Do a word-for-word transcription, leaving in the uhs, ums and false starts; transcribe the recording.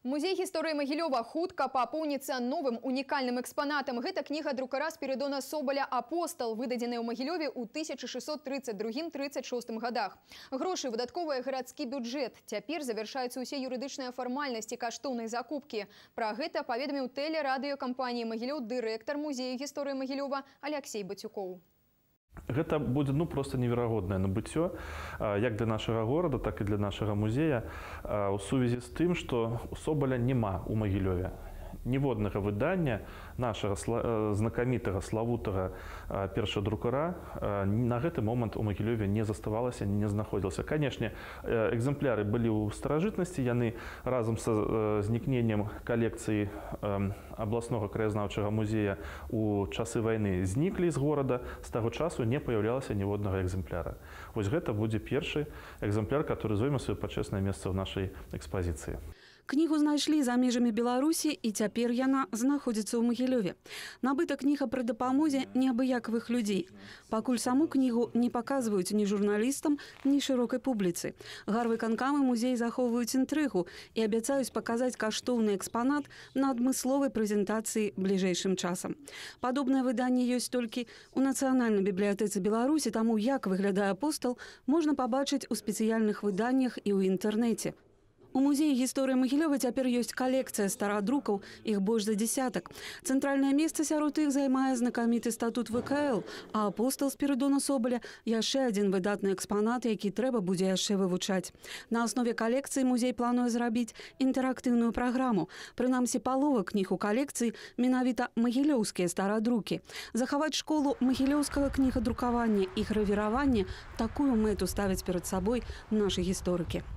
Музей гісторыі Магілёва хутка папоўніцца новым унікальным экспанатам. Гэта кніга друкара Спірыдона Собаля «Апостал», выдадзеная ў Магілёве ў тысяча шэсцьсот трыццаць другім — трыццаць шостым годах. Грошы выдатковыя гарадскі бюджэт. Цяпер завяршаюцца ўсе юрыдычныя фармальнасці каштоўнай закупкі. Пра гэта паведаміў тэлерадыёкампаніі «Магілёў» дырэктар музея гісторыі Магілёва Аляксей Бацюкоў. Гэта будзе ну просто неверагоднае набыццё як для нашага горада, так і для нашага музея у сувязі з тым, што у Собаля няма ў Магілёве ніводнага выдання нашага знакамітага славутага першага друкара на гэты момант у Магілёве не заставалася, не знаходзілася. Канешне, экземпляры былі ў старажытнасці, яны разам са знікненнем калекцыі абласнога краязнаўчага музея у часы вайны зніклі з горада, з таго часу не паяўлялася ніводнага экземпляра. Вось гэта будзе першы экземпляр, который зойме сваё пачэснае месца ў нашай экспазіцыі. Кнігу знайшлі за межамі Беларусі, і цяпер яна знаходзіцца ў Магілёве. Набыта кніга пры дапамозе неабыякавых людзей. Пакуль саму кнігу не паказваюць ні журналістам, ні шырокай публіцы. Гарвыканкамы музей захоўваюць інтрыгу і абяцаюць паказаць каштоўны экспанат на адмысловай прэзентацыі бліжэйшым часам. Падобнае выданне ёсць толькі ў Нацыянальнай бібліятэцы Беларусі, таму як выглядае «Апостал» можна пабачыць у спецыяльных выданнях і ў інтэрнэце. У музеі гісторыі Магілёва цяпер ёсць калекцыя старадрукаў, іх больш за дзесятак. Цэнтральнае месца сярод іх займае знакаміты статут вэ ка эл, а «Апостал» Спірыдона Собаля яшчэ адзін выдатны экспанат, які трэба будзе яшчэ вывучаць. На аснове калекцыі музей плануе зрабіць інтэрактыўную праграму. Прынамсі, палова кніг у калекцыі менавіта магілёўскія старадрукі. Захаваць школу магілёўскага кнігадрукавання і гравіравання — такую мэту ставяць перад сабой нашы гісторыкі.